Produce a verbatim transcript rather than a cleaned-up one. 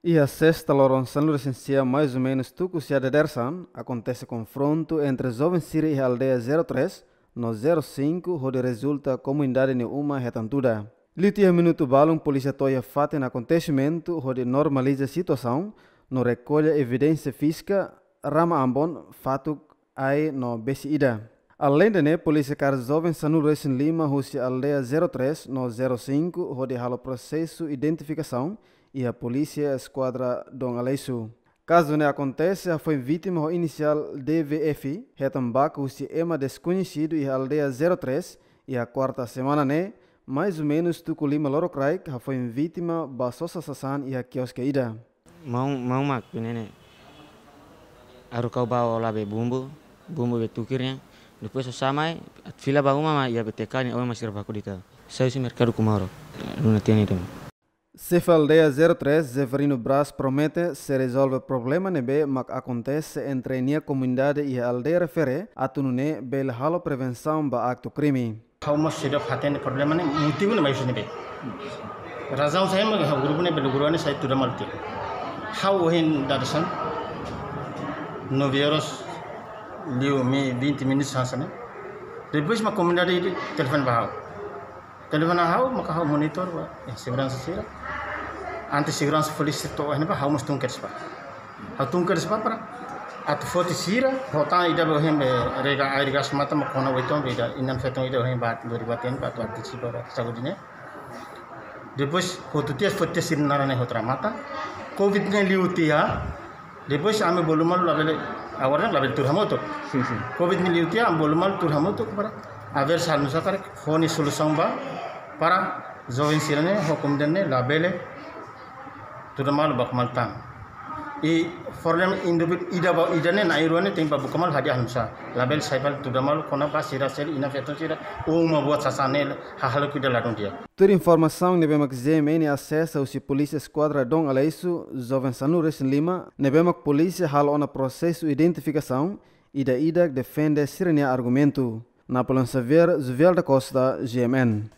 Iha sesta loron sanulu-resin-sia, mais ou menus tuku sia dadeer-saan, akontese konfrontu entre joven sira iha aldeia zero três no zero cinco, hodi rezulta komunidade nia uma hetan tuda. Liu tiha minutu balun, polísia to'o iha fatin akontesimentu hodi normaliza situasaun no rekolla evidénsia fízika, rama ambon, fatuk, ai no besi ida. Aleinde ne'e, polísia kaer joven sanulu-resin-lima husi aldeia zero três no zero cinco hodi halo prosesu identifikasaun iha Polísia Eskuadra Dom Aleixo. Kazu ne'e akontese hafoin vítima ho inisiál D V F, hetan baku husi ema deskoñesidu iha aldeia zero três, iha kuarta semana ne'e, mais ou menus tuku lima lorokraik, hafoin vítima bá sosa sasán iha kioske ida. Maun, maun mak ne'e, haruka ha'u bá hola be bumbu, bumbu be tuku nian. Depois ha'u sa'e mai, atu fila ba uma mak iha B T K nia oan mak sira baku de'it. Sai husi merkadu Kumauro, luna tiha ne'e de'it. Xefe aldeia zero três, Zeferino Braz, promete sei rezolve problema ne'ebé mak akontese entre nia komunidade iha aldeia refere, atu nune'e bele halo prevensaun ba aktu krime. Ha'u mós seidauk hatene problema ne'e, motivu ne'e mai husi ne'ebé. Razaun saida mak ha'u grupu ne'e bele grupu ne'e sai tuda malu tiha. Ha'u ohin dadeer-saan, nove horas liu mai vinte minutos hanesan ne'e. Depois mak komunidade telefone ba ha'u. Telefone ha'u, maka ha'u monitor ba, eh, seguransa sira. Antes seguransa polísia to'o iha ne'ebá, ha'u mós tun kedas bá. Ha'u tun kedas bá para atu foti sira, hota ida be ohin be rega air gas mata mak kona oiton be ida inan-feton ida ohin bá dori bá ten bá atu antisipa ba saúde ne'e. Depois hotu tiha foti tiha sira-nia naran ne'e hotu remata. Covid ne'e liu tiha. Depois ami bolu malu labele, agora labele tuur hamutuk. Covid ne'e liu tiha, ami bolu malu tuur hamutuk para haver solusaun karik, fó nia solusaun ba para joven sira-ne'e, ho komunidade ne'e labele tuur malu baku malu tan. I problema indivíduu ida ba ida ne'e, na'in-rua ne'e tenke bá buka malu hadi'a hanusa. Labele sai fali tuur malu kona-ba sira seluk, inan-feton sira, uma buat sasán ne'e, hahalok ida ladún di'ak. Tuir informasaun ne'ebé mak G M N asesa husi Polísia Eskuadra Dom Aleixo, joven sanulu-resin-lima ne'ebé mak polísia halo ona prosesu identifikasaun, ida-idak defende sira-nia argumentu. Napoleão Xavier, Juvial da Costa, G M N.